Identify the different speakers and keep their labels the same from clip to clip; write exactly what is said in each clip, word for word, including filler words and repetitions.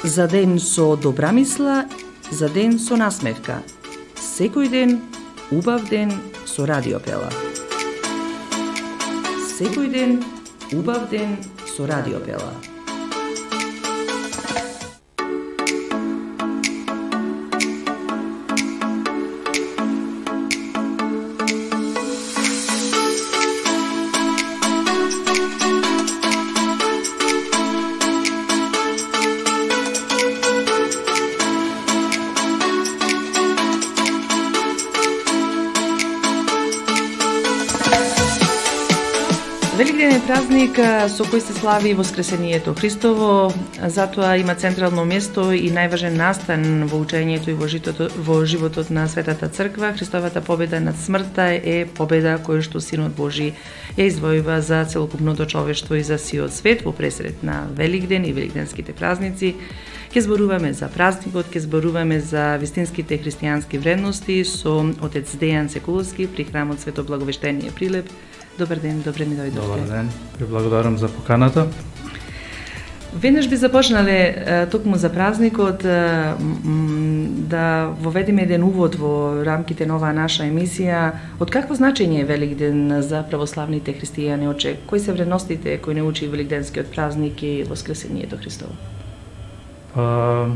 Speaker 1: За ден со добра мисла, за ден со насмевка. Секој ден, убав ден со Радио Пела. Секој ден, убав ден со Радио Пела. Великден е празник со кој се слави Воскресението Христово, затоа има централно место и најважен настан во учењето и во животот, во животот на Светата Црква. Христовата победа над смртта е победа која што Синот Божи ја извојува за целокупното човештво и за сиот свет. Во пресред на Великден и великденските празници ќе зборуваме за празникот, ќе зборуваме за вистинските христијански вредности со отец Дејан Секуловски при храмот Свето Благовештение Прилеп. Добар ден, добре ми дојдовте.
Speaker 2: Добар ден, ви благодарам за поканата.
Speaker 1: Веднаш би започнале токму за празникот да воведеме еден увод во рамките на оваа наша емисија. Од какво значење е Великден за православните христијани? Оче, кои се вредностите кои не учи Великденскиот празник и Воскресението Христово?
Speaker 2: Па,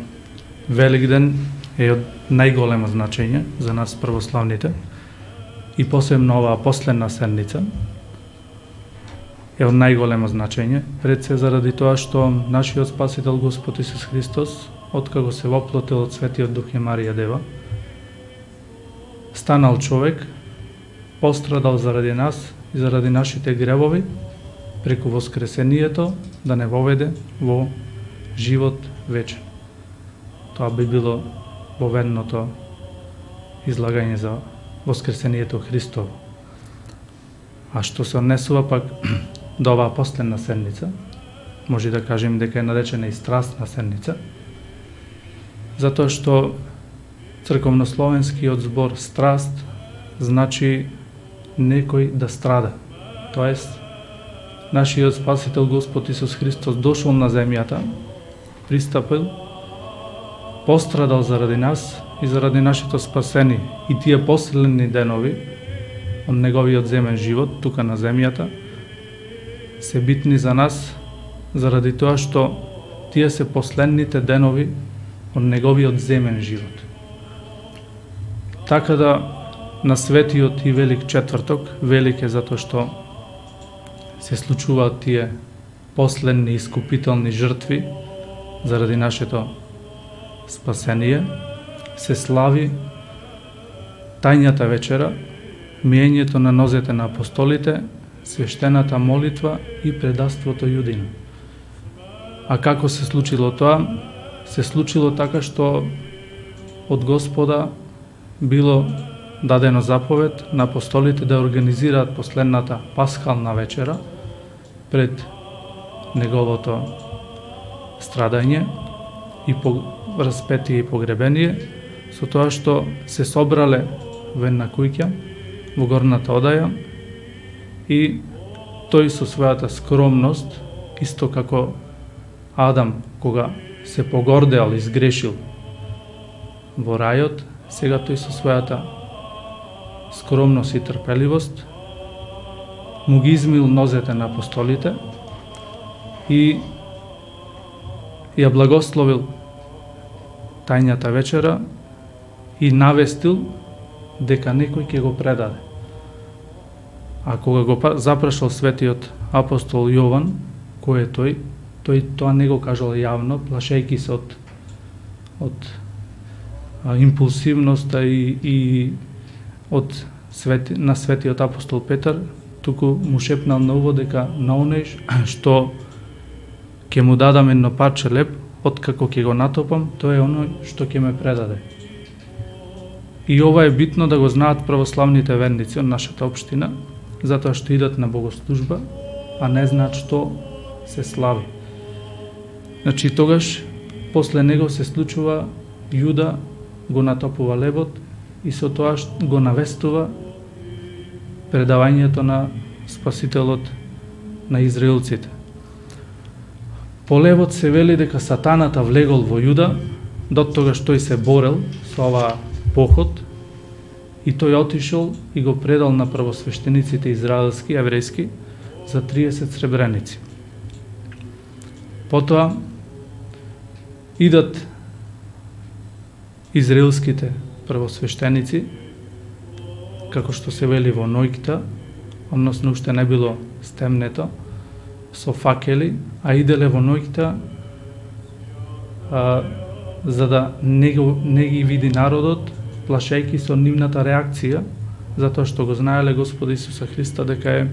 Speaker 2: Великден е од најголемо значење за нас православните и посебно оваа последна седница е од најголемо значење, пред се заради тоа што нашиот Спасител Господ Исус Христос, откако се воплотил од Светиот Дух и Марија Дева, станал човек, пострадал заради нас и заради нашите гревови, преку Воскресението да не воведе во живот вечен. Тоа би било воведното излагање за Воскресението Христово. А што се однесува пак до оваа последна седница, може да кажем дека е наречена и страстна седница, затоа што црковнословенскиот збор страст значи некој да страда. Тоест, нашиот Спасител Господ Исус Христос дошол на земјата, пристапил, пострадал заради нас и заради нашето спасение. И тие последни денови од неговиот земен живот тука на земјата се битни за нас заради тоа што тие се последните денови од неговиот земен живот. Така да на светиот и велик четврток, велик е затоа што се случуваат тие последни искупителни жртви заради нашето спасение, се слави тајната вечера, миењето на нозете на апостолите, свештената молитва и предаството јудина. А како се случило тоа? Се случило така што од Господа било дадено заповед на апостолите да организираат последната пасхална вечера пред неговото страдање и по распетие и погребение, со тоа што се собрале во една куќа во горната одаја и тој со својата скромност, исто како Адам кога се погордеал и сгрешил во рајот, сега тој со својата скромност и трпеливост му ги измил нозете на апостолите и ја благословил тајната вечера и навестил дека некој ќе го предаде. А кога го запрашал светиот апостол Јован, кој е тој, тој тоа не го кажал јавно, плашејќи се од, од а, импулсивноста и, и од свети, на светиот апостол Петар, туку му шепнал на уво дека на оној што ќе му дадам едно парче леб, откако ќе го натопам, тоа е оној што ќе ме предаде. И ова е битно да го знаат православните верници од нашата општина, затоа што идат на богослужба, а не знаат што се слави. Значи, тогаш, после него се случува Јуда го натопува лебот и со тоа го навестува предавањето на Спасителот на израелците. Полевот се вели дека сатаната влегол во Јуда, до тогаш тој се борел со оваа поход и тој отишол и го предал на првосвештениците израелски, еврејски, за триесет сребреници. Потоа идат израелските првосвештеници, како што се вели во Нојкта, односно уште не било стемнето, со факели, а иделе во Нојкта, а, за да не, го, не ги види народот, плашејки со нивната реакција, затоа што го знаеле Господ Исуса Христа дека е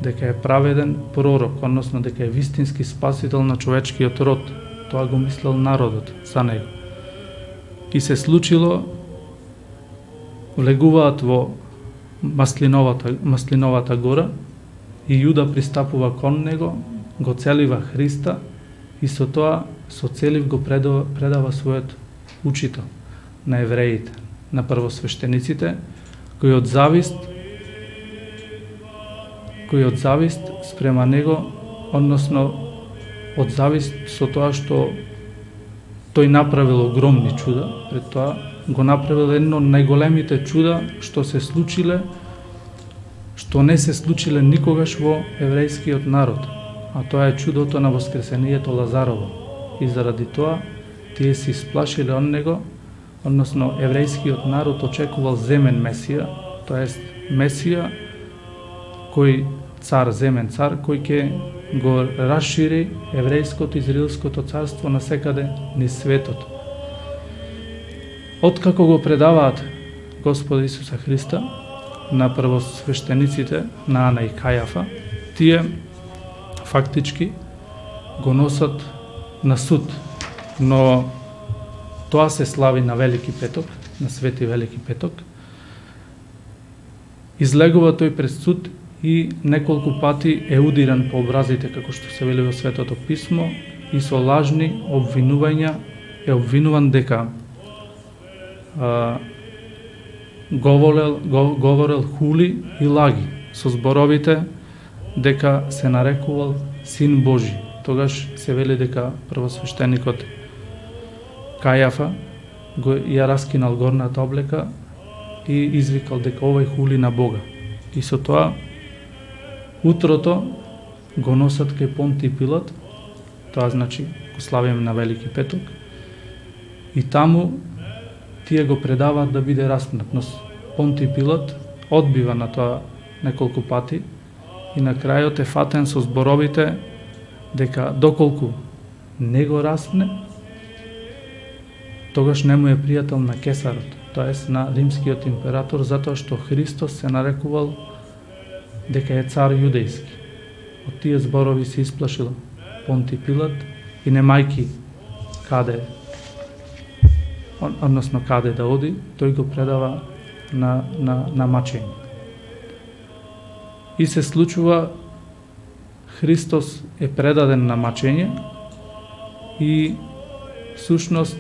Speaker 2: дека е праведен пророк, односно дека е вистински спасител на човечкиот род. Тоа го мислел народот за него. И се случило, влегуваат во маслиновата, маслиновата гора и Јуда пристапува кон него, го целива Христа и со тоа со целив го предава, предава својот учител на евреите, на првосвештениците, кои од завист кои од завист спрема него, односно од завист со тоа што тој направил огромни чуда, пред тоа го направил едно од најголемите чуда што се случиле, што не се случиле никогаш во еврејскиот народ, а тоа е чудото на воскресението Лазарово. И заради тоа тие се исплашиле од него, односно еврејскиот народ очекувал земен Месија, тоест Месија кој цар, земен цар, кој ќе го расшири еврејското израелското царство на секаде низ светот. Откако го предаваат Господ Исуса Христа на првосвештениците на Ана и Кајафа, тие фактички го носат на суд, но тоа се слави на Велики петок, на Свети Велики петок. Излегува тој пред суд и неколку пати е удиран по образите, како што се вели во Светото Писмо, и со лажни обвинувања е обвинуван дека а, говорел, го, говорел хули и лаги со зборовите дека се нарекувал Син Божи. Тогаш се вели дека првосвештеникот Кајафа го ја раскинал горната облека и извикал дека овој хули на Бога. И со тоа утрото го носат кај Понти Пилат, тоа значи го славиме на Велики петок, и таму тие го предаваат да биде распнат. Но Понти Пилат одбива на тоа неколку пати и на крајот е фатен со зборовите дека доколку не го распне, тогаш не му е пријател на Кесарот, тоест на римскиот император, затоа што Христос се нарекувал дека е цар јудејски. Од тие зборови се исплашил Понти Пилат и немајки каде, односно каде да оди, тој го предава на, на, на мачење. И се случува, Христос е предаден на мачење и всушност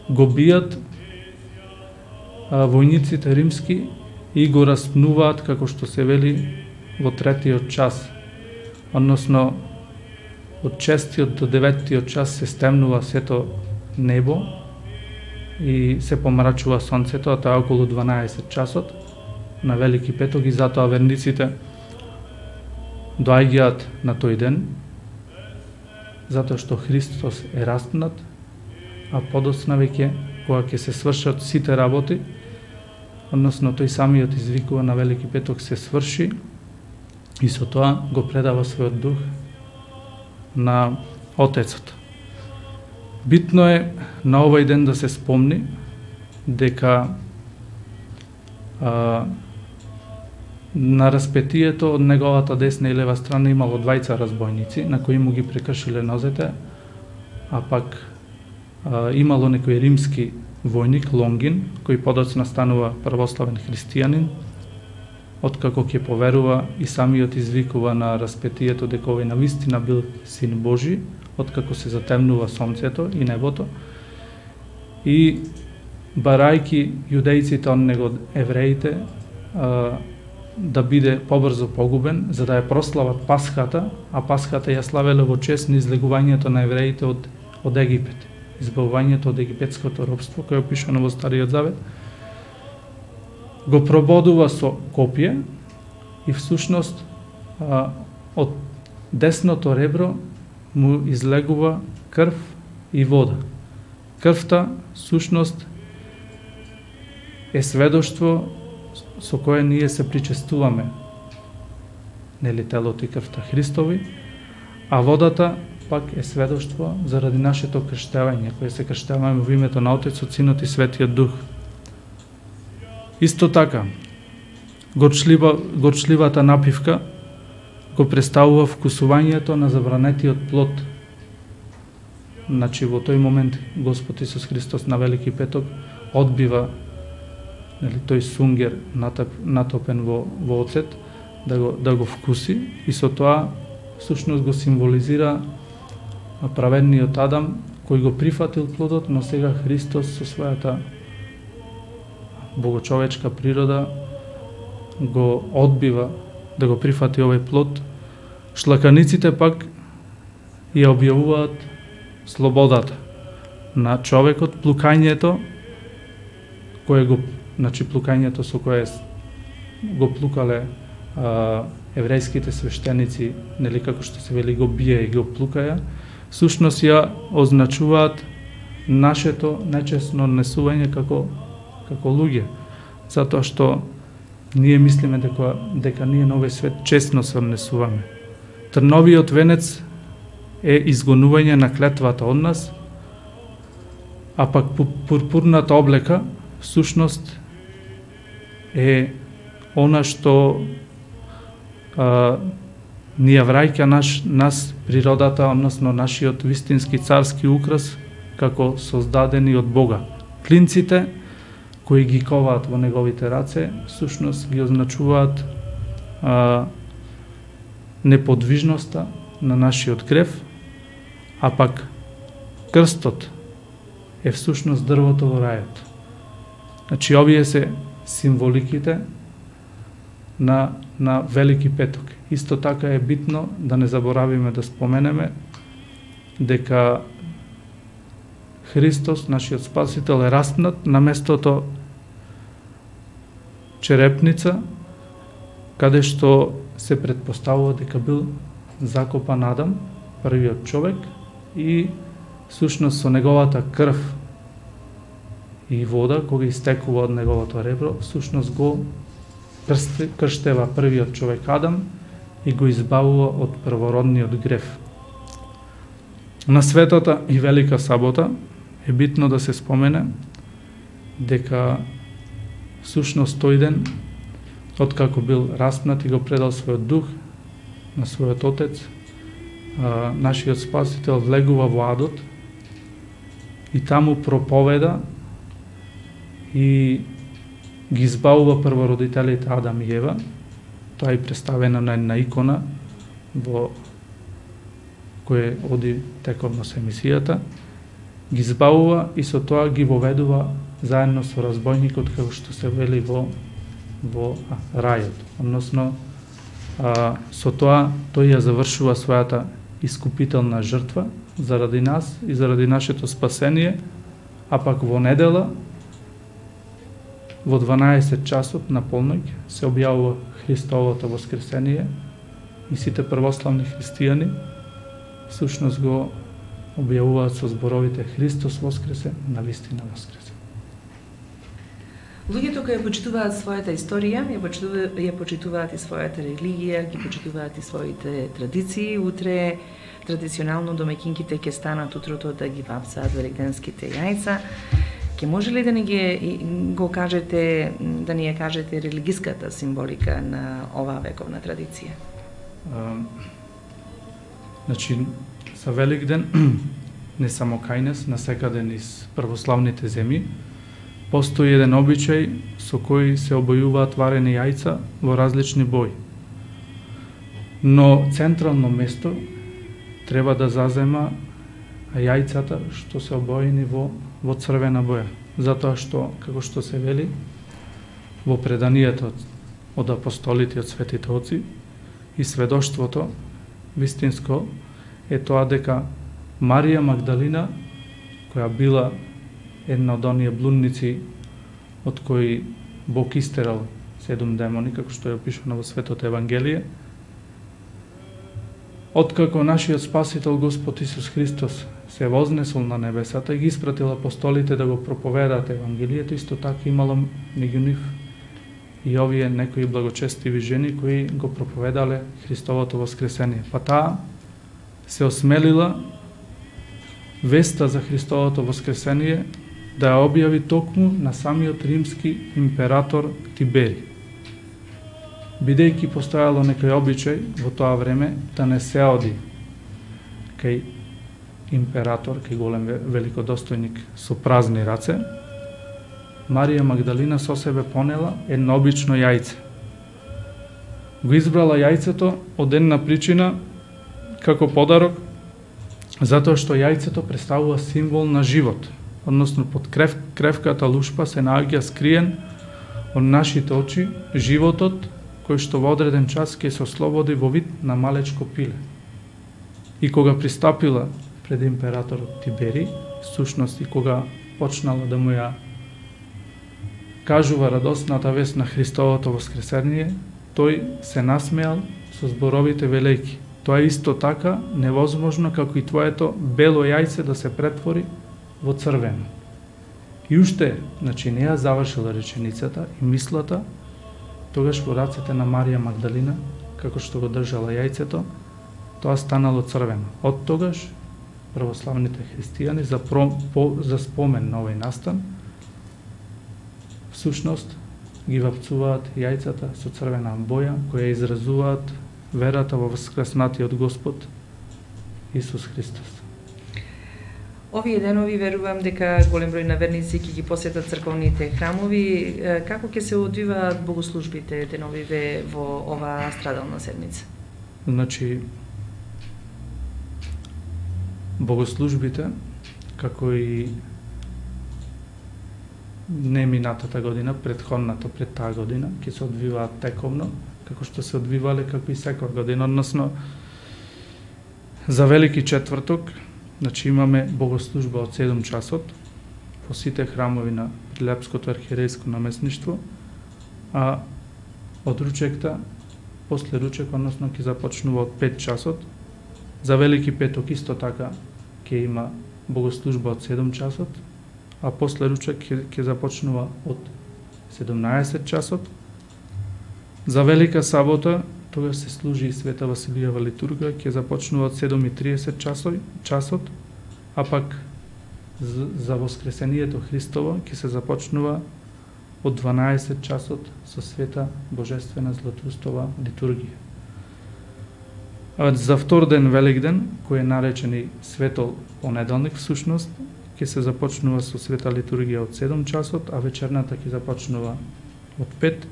Speaker 2: го бијат војниците римски и го распнуваат, како што се вели, во третиот час. Односно, од шестиот до деветиот час се стемнува сето небо и се помрачува сонцето, а тоа е околу дванаесет часот на Велики петок, и затоа верниците доаѓаат на тој ден, затоа што Христос е распнат, а подоцна веќе, кога ќе се свршат сите работи, односно тој самиот извикува на Велики петок се сврши, и со тоа го предава својот дух на Отецот. Битно е на овој ден да се спомни дека а, на распетието од неговата десна и лева страна имало двајца разбойници, на кои му ги прекршиле нозете, а пак а, имало некој римски војник Лонгин, кој подоцна станува православен христијанин, откако ќе поверува и самиот извикува на распетието дека овој навистина бил Син Божи, откако се затемнува сонцето и небото, и барајки јудејците од него евреите, а, да биде побрзо погубен, за да ја прослават Пасхата, а Пасхата ја славеле во чест на излегувањето на евреите од, од Египет, избавувањето од египетското робство, кој е опишано во Стариот Завет, го прободува со копие и всушност а, од десното ребро му излегува крв и вода. Крвта всушност е сведоштво со кое ние се причестуваме, нели, телото и крвта Христови, а водата пак е сведоштво заради нашето крштевање, кое се крштеваме во името на Отецот, Синот и Светиот Дух. Исто така, горчлива, горчливата напивка го представува вкусувањето на забранетиот плод. Значи, во тој момент Господ Исус Христос на Велики Петок одбива, нели, тој сунгер натоп, натопен во, во оцет, да го, да го вкуси, и со тоа всушност го символизира праведниот Адам, кој го прифатил плодот, но сега Христос со својата богочовечка природа го одбива да го прифати овој плод. Шлаканиците пак ја објавуваат слободата на човекот, плукањето кое го, значи плукањето со кое го плукале а, еврејските свештеници, нели, како што се вели, го бие и го плукаја, всушност ја означуваат нашето нечесно однесување како како луѓе, затоа што ние мислиме дека дека ние на овој свет честно се однесуваме. Трновиот венец е изгонување на клетвата од нас, а пак пурпурната облека всушност е она што а, ни ја враќа наш, нас природата, односно нашиот вистински царски украс, како создадени од Бога. Клинците кои ги коваат во неговите раце, всушност ги означуваат а, неподвижноста на нашиот крев, а пак крстот е всушност дрвото во рајот. Значи, овие се символиките на, на Велики Петок. Исто така е битно да не заборавиме да споменеме дека Христос, нашиот Спасител, е распнат на местото черепница, каде што се предпоставува дека бил закопан Адам, првиот човек, и всушност со неговата крв и вода, кога истекува од неговото ребро, всушност го крштева првиот човек Адам и го избавува од првородниот грев. На светата и Велика Сабота е битно да се спомене дека всушност тој ден, откако бил распнат и го предал својот дух на својот Отец, а, нашиот Спасител влегува во адот и таму проповеда и ги избавува првородителите Адам и Ева. Тоа е представено на една икона во кој оди тековно со емисијата, ги избавува и со тоа ги воведува заедно со разбойникот, како што се вели во, во а, рајот. Односно, а, со тоа тој ја завршува својата искупителна жртва заради нас и заради нашето спасение, а пак во недела, во дванаесет часот на полноќ, се објавува Христовото воскресение и сите првославни христијани всушност го објавуваат со зборовите Христос воскресе, навистина воскресе.
Speaker 1: Луѓето кои ја почитуваат својата историја, ја почитуваат, ја почитуваат и својата религија, ги почитуваат и своите традиции. Утре традиционално домаќинките ќе станат утрото да ги вапсаат великденските јајца. Ке може ли да ни ги го кажете, да ни ја кажете религиската символика на оваа вековна традиција?
Speaker 2: Uh, значи, за Великден, не само кај нас, насекаде низ православните земји, постои еден обичај со кој се обојуваат варени јајца во различни бои. Но централно место треба да зазема јајцата што се обоени во, во црвена боја. Затоа што, како што се вели, во преданието од апостолите, од светите оци, и сведоштвото вистинско е тоа дека Марија Магдалина, која била една од оние блудници од кои Бог истерал седум демони, како што е опишано во Светото Евангелие, откако нашиот Спасител Господ Исус Христос се вознесол на небесата и ги испратил апостолите да го проповедаат Евангелието, исто така имало меѓу нив и овие некои благочестиви жени кои го проповедале Христовото воскресение. Па таа се осмелила веста за Христовото воскресение да ја објави токму на самиот римски император Тибери. Бидејќи постојало некој обичај во тоа време да не се оди кај император, кај голем великодостојник со празни раце, Марија Магдалина со себе понела едно обично јајце. Го избрала јајцето од една причина како подарок, затоа што јајцето представува символ на живот, односно под крев, кревката лушпа се наоѓа скриен од нашите очи животот кој што во одреден час ќе се ослободи во вид на малечко пиле. И кога пристапила пред императорот Тибери, сушност и кога почнала да му ја кажува радосната вест на Христовото воскресение, тој се насмеал со зборовите велејки: тоа е исто така невозможно како и твоето бело јајце да се претвори во црвено. И уште, значи не ја завршила реченицата и мислата, тогаш во рацете на Марија Магдалина, како што го држала јајцето, тоа станало црвено. Од тогаш православните христијани за, про, по, за спомен на овој настан всушност ги вапцуваат јајцата со црвена боја, која изразуваат верата во воскреснатиот Господ Исус Христос.
Speaker 1: Овие денови верувам дека голем број на верници ќе ги посетат црковните храмови. Како ќе се одвиваат богослужбите деновиве во оваа страдална седмица?
Speaker 2: Значи, богослужбите, како и не минатата година, предходната пред таа година, ќе се одвиваат тековно, како што се одвивале како и секоја година, односно за Велики четврток, значи имаме богослужба од седум часот во сите храмови на Прилепското архиерејско наместништво, а од ручекта, после ручек, односно ќе започнува од пет часот. За Велики петок исто така ќе има богослужба од седум часот, а после ручек ќе започнува од седумнаесет часот. За Велика сабота, тогаш се служи и Света Василијава литургија, ќе започнува од седум и триесет часот, а пак за Воскресението Христово ќе се започнува од дванаесет часот со Света Божествена Златоустова литургија. А за втор ден Великден, кој е наречен и Светол понеделник, всушност, ќе се започнува со Света литургија од седум часот, а вечерната ќе започнува од пет.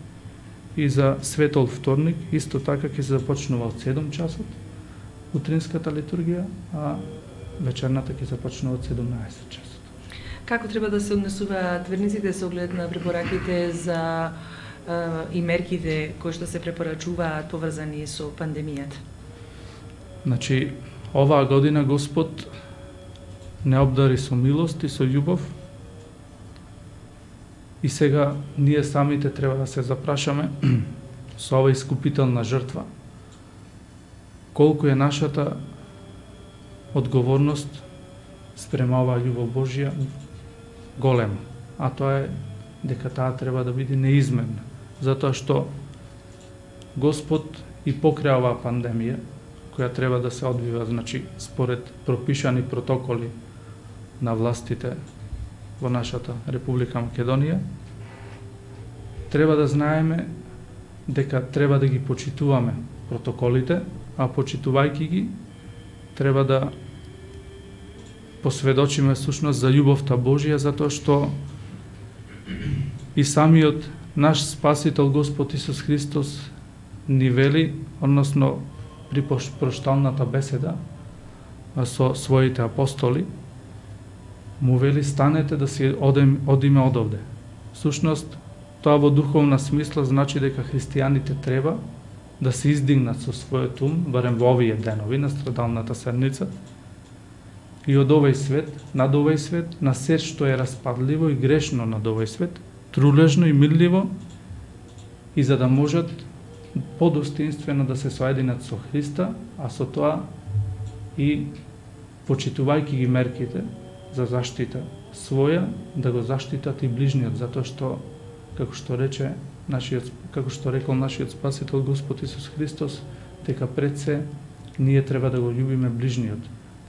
Speaker 2: И за Светол вторник, исто така ќе се започнува од седум часот, утринската литургија, а вечерната ќе започнува од седумнаесет часот.
Speaker 1: Како треба да се однесуваат верниците со оглед на препораките за е, и мерките кои што се препорачуваат поврзани со пандемијата?
Speaker 2: Значи, оваа година Господ не обдари со милост и со љубов, и сега ние самите треба да се запрашаме со ова искупителна жртва колку е нашата одговорност спрема оваа љубов Божја голема, а тоа е дека таа треба да биде неизменна, затоа што Господ и покрај оваа пандемија, која треба да се одвива, значи, според пропишани протоколи на властите во нашата Република Македонија, треба да знаеме дека треба да ги почитуваме протоколите, а почитувајќи ги, треба да посведочиме сушност за љубовта Божја, затоа што и самиот наш Спасител Господ Исус Христос ни вели, односно при прошталната беседа со своите апостоли, му вели: станете да си одем, одиме од овде. Сушност, Тоа во духовна смисла значи дека христијаните треба да се издигнат со својот ум, барем во овие денови на страдалната седмица, и од овој свет, над овој свет, на се што е распадливо и грешно над овој свет, трулежно и милливо, и за да можат подостоинствено да се соединат со Христа, а со тоа и почитувајќи ги мерките за заштита своја, да го заштитат и ближниот, затоа што, како што рече нашиот, како што рекол нашиот Спасител Господ Исус Христос, дека пред се ние треба да го љубиме ближниот,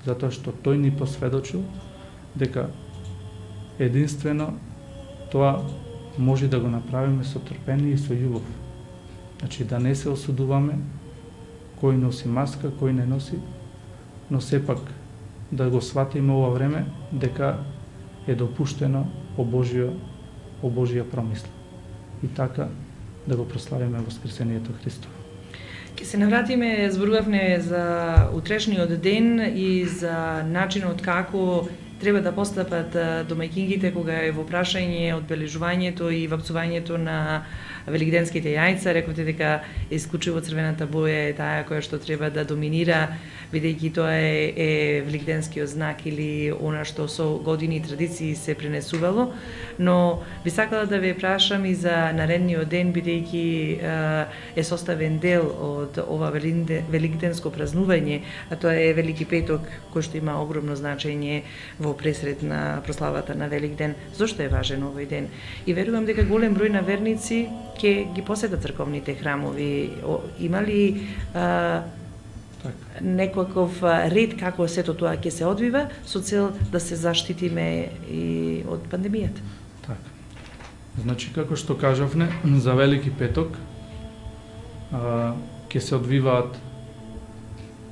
Speaker 2: затоа што тој ни посведочил дека единствено тоа може да го направиме со трпение и со љубов. Значи да не се осудуваме кој носи маска, кој не носи, но сепак да го сватиме ова време дека е допуштено по Божија, по Божија промисла. И така да го прославиме Воскресението Христово.
Speaker 1: Ке се навратиме, зборувавме за утрешниот ден и за начинот како треба да постапат домаќингите кога е во прашање одбележувањето и вапцувањето на великденските јајца. Рековте дека исклучиво црвената боја е таа која што треба да доминира, бидејќи тоа е, е великденскиот знак или она што со години и традиции се пренесувало. Но би сакала да ве прашам и за наредниот ден, бидејќи е составен дел од ова великденско празнување, а тоа е Велики петок, кој што има огромно значење во пресред на прославата на Великден. Зошто е важен овој ден? И верувам дека голем број на верници ќе ги посетат црковните храмови. Има ли а, некаков ред како сето тоа ќе се одвива со цел да се заштитиме и од пандемијата?
Speaker 2: Така. Значи, како што кажавме, за Велики петок а, ќе се одвиваат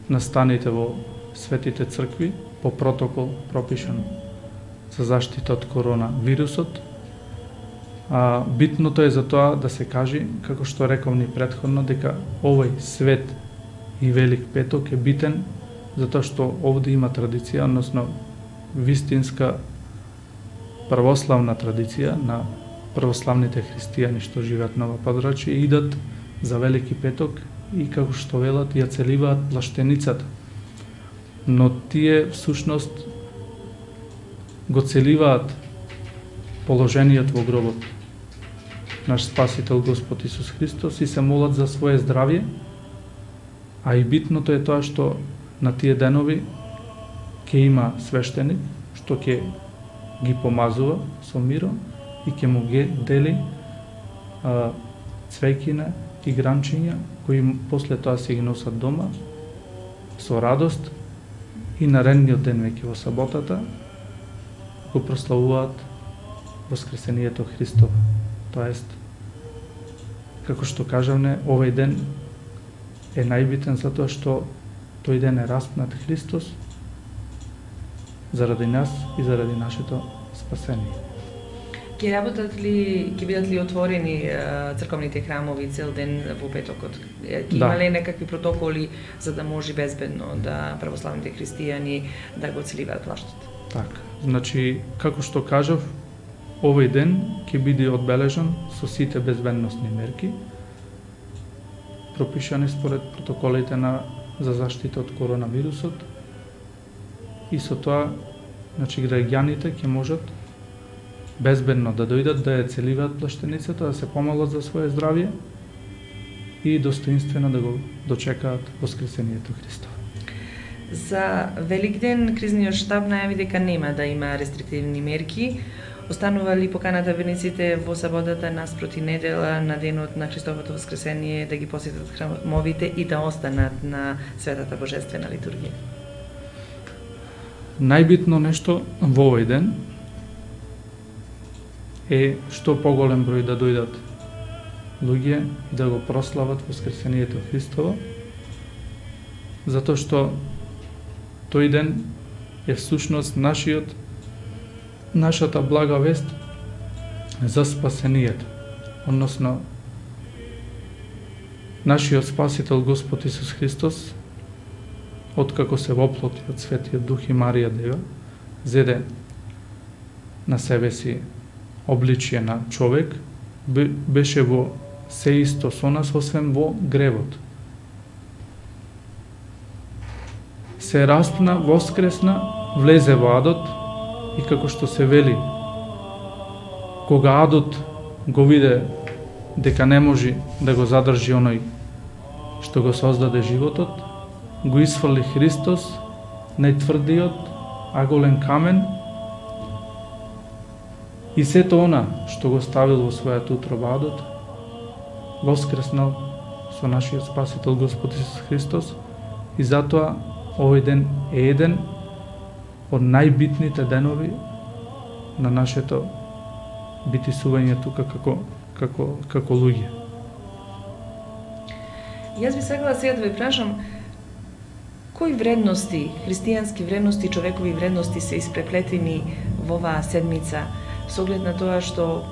Speaker 2: настаните во светите цркви по протокол пропишан за заштита од коронавирусот. А, битното е за тоа да се кажи, како што рековни претходно, дека овој свет и Велик петок е битен затоа што овде има традиција, односно вистинска православна традиција на православните христијани што живеат на ова подрачје, идат за Велики петок и како што велат ја целиваат плаштеницата. Но тие всушност го целиваат положениот во гробот наш Спасител Господ Исус Христос и се молат за свое здравје, а и битното е тоа што на тие денови ќе има свештеник што ќе ги помазува со миро и ќе му ги дели а, цвеќина и гранчиња кои после тоа се ги носат дома со радост и наредниот ден веќе во саботата го прославуваат Воскресението Христово. Тоест, како што кажавме, овој ден е најбитен затоа што тој ден е распнат Христос заради нас и заради нашето спасение.
Speaker 1: Ке работат ли, ке бидат ли отворени црковните храмови цел ден во петокот? Ке да. Има ли некакви протоколи за да може безбедно да православните христијани да го целиваат плаштот?
Speaker 2: Така, значи, како што кажав, овој ден ќе биде одбележан со сите безбедносни мерки, пропишани според протоколите на за заштита од коронавирусот, и со тоа, значи, граѓаните ќе можат безбедно да дојдат да ја целиваат плаштеницата, да се помолат за свое здравје и достоинствено да го дочекаат Воскресението Христово.
Speaker 1: За Великден кризниот штаб најави дека нема да има рестриктивни мерки. Останува ли поканата верниците во саботата наспроти недела на денот на Христовото воскресение да ги посетат храмовите и да останат на светата божествена литургија?
Speaker 2: Најбитно нешто во овој ден е што поголем број да дојдат луѓе и да го прослават Воскресението Христово, затоа што тој ден е всушност нашиот нашата блага вест за спасението, односно нашиот Спасител Господ Исус Христос, откако се воплоти од Светиот Дух и Марија Дева, зеде на себе си обличие на човек беше во се исто со нас, освен во гревот. Се распна, воскресна, влезе во адот и како што се вели, кога адот го виде дека не може да го задржи оној што го создаде животот, го исфрли Христос, најтврдиот, аголен камен, и сето она што го ставил во својата утроба адот, воскреснал со нашиот Спасител Господ Исус Христос, и затоа овој ден е еден од најбитните денови на нашето битисување тука како како како луѓе.
Speaker 1: Јас би сакала сега да ве прашам, кои вредности, христијански вредности, човекови вредности се испреплетени во оваа седмица, со оглед на тоа што,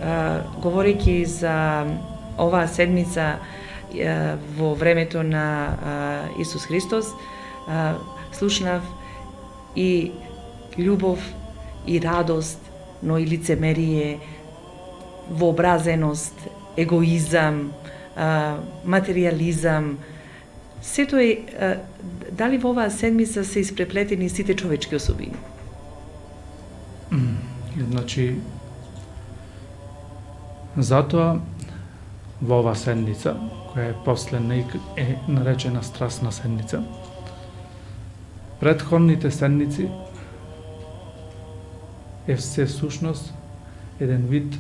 Speaker 1: а, говорејќи за оваа седмица а, во времето на а, Исус Христос, а, слушнав и љубов, и радост, но и лицемерие, вообразеност, егоизам, а, материјализам. Сето е, а, дали во оваа седмица се испреплетени сите човечки особини?
Speaker 2: Значи, затоа во оваа седмица, која е последна и е наречена страстна седмица, претходните седмици е се всушност еден вид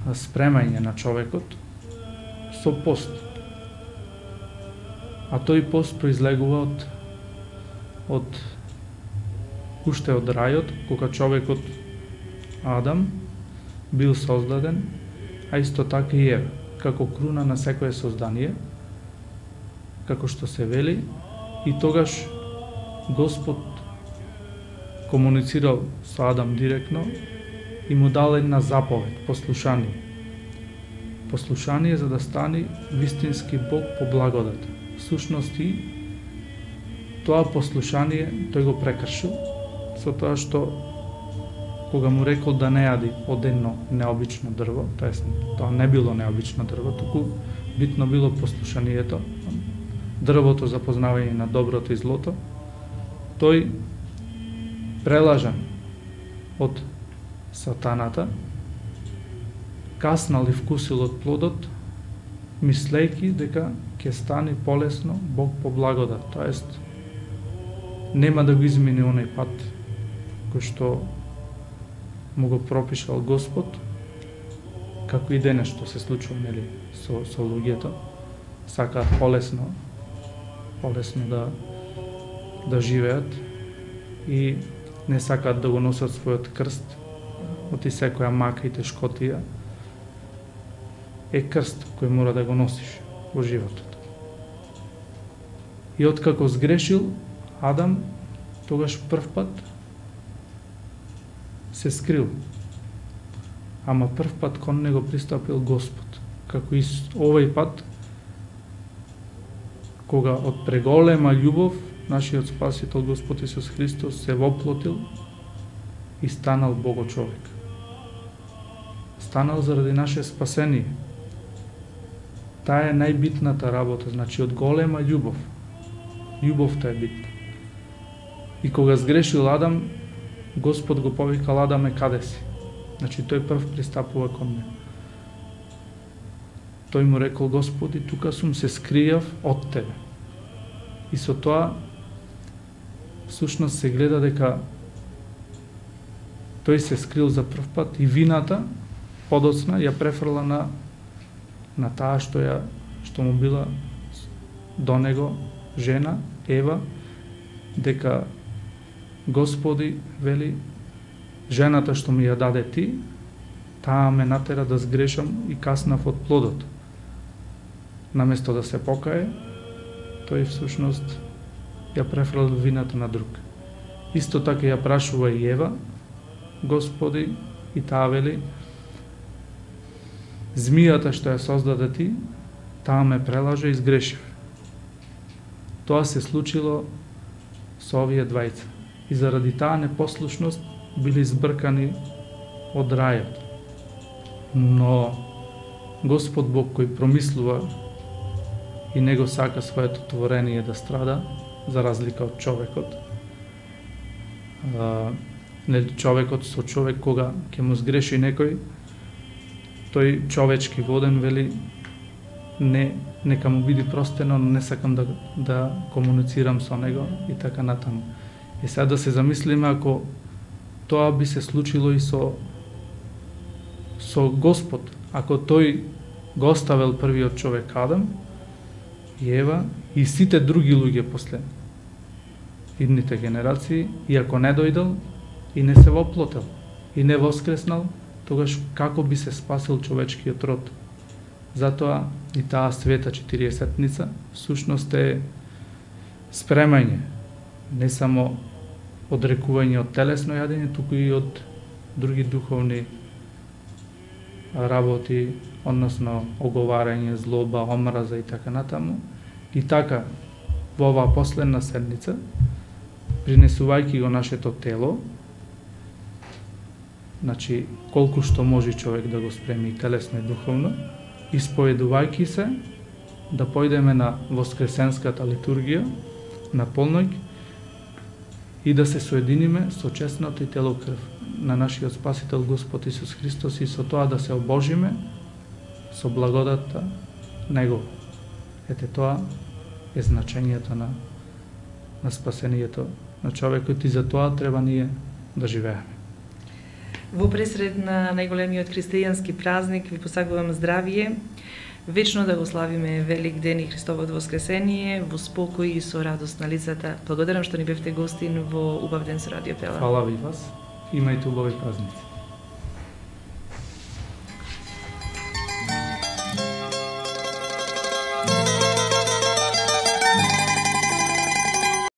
Speaker 2: спремање на човекот со пост. А тој пост произлегува од од уште од рајот, кога човекот Адам бил создаден, а исто така и Ева, како круна на секое создание, како што се вели, и тогаш Господ комуницирал со Адам директно и му дал една заповед, послушание. Послушание за да стане вистински Бог по благодат. Всушност и тоа послушание тој го прекршил со тоа што кога му рекол да не јади од едно необично дрво, тоест тоа не било необично дрво, туку битно било послушанието, дрвото за познавање на доброто и злото, тој прелажан од сатаната, каснал и вкусил од плодот, мислејќи дека ќе стане полесно Бог по благодат, тоест нема да го измени оној пат кој што му го пропишал Господ, како и денес што се случува, нели, со со луѓето, сакаат полесно полесно да да живеат и не сакаат да го носат својот крст, оти секоја мака и тешкотија е крст кој мора да го носиш во животот. И откако сгрешил Адам, тогаш прв пат се скрил. Ама прв пат кон него пристапил Господ. Како и овој пат, кога од преголема љубов нашиот Спасител Господ Исус Христос се воплотил и станал Бого човек. Станал заради наше спасение. Таа е најбитната работа, значи од голема љубов. Љубовта е битна. И кога сгрешил Адам, Господ го повикал: Адаме, каде си? Значи тој прв пристапува кон него. Тој му рекол: Господи, тука сум, се скријав од тебе. И со тоа всушност се гледа дека тој се скрил за прв пат и вината подоцна ја префрла на на таа што ја што му била до него жена Ева, дека Господи вели: жената што ми ја даде ти, таа ме натера да сгрешам и каснав од плодот. Наместо да се покае, тој всушност ја префрал вината на друг. Исто така ја прашува и Ева, Господи, и таа вели: змијата што ја создаде ти, таа ме прелажа и сгрешив. Тоа се случило со овие двајца. И заради таа непослушност били избркани од рајот. но Господ Бог кој промислува и него сака своето творение да страда, за разлика од човекот. А, нели човекот со човек кога ќе му сгреши некој, тој човечки воден вели не нека му биде простено, но не сакам да да комуницирам со него и така натаму. И сега да се замислиме ако тоа би се случило и со со Господ, ако тој го оставил првиот човек Адам и Ева и сите други луѓе после идните генерации, и ако не дојдел и не се воплотел и не воскреснал, тогаш како би се спасил човечкиот род? Затоа и таа света четириесетница всушност е спремање, не само одрекување од телесно јадење, туку и од други духовни работи, односно оговарање, злоба, омраза и така натаму. И така, во оваа последна седница, принесувајќи го нашето тело, значи колку што може човек да го спреми и телесно и духовно, исповедувајќи се да појдеме на воскресенската литургија на полноќ и да се соединиме со честното и тело крв на нашиот Спасител Господ Исус Христос и со тоа да се обожиме со благодатта Него. Ете тоа е значењето на, на спасението на човекот и за тоа треба ние да живееме.
Speaker 1: Во пресред на најголемиот христијански празник ви посакувам здравие, вечно да го славиме Велик ден и Христовото воскресение во спокој и со радост на лицата. Благодарам што ни бевте гостин во убав ден со Радио Пела.
Speaker 2: Фала ви вас. Имајте убави празници.